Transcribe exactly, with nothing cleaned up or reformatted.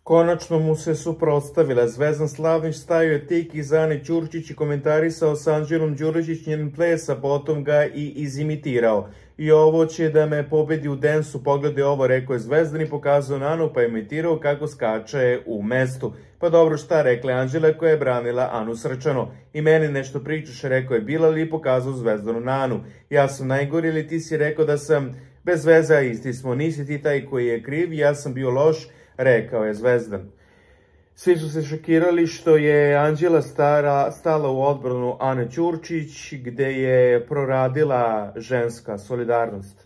Konačno mu se suprotstavila. Zvezdan Slavnić stavio je tik iza Ane Ćurčić i komentarisao sa Anđelom Đurišić njen ples, a potom ga i izimitirao. I ovo će da me pobedi u densu, pogledaj ovo, rekao je Zvezdan i pokazao na Anu, pa je imitirao kako skače u mestu. Pa dobro, šta, rekla je Anđela koja je branila Anu srčano. I meni nešto pričaš, rekao je Bilal i pokazao Zvezdanu na Anu. Ja sam najgori ili ti si rekao da sam bez veze, a isti smo, nisi ti taj koji je kriv, ja sam bio loš, rekao je Zvezdan. Svi su se šokirali što je Anđela stara, stala u odbranu Ane Ćurčić, gde je proradila ženska solidarnost.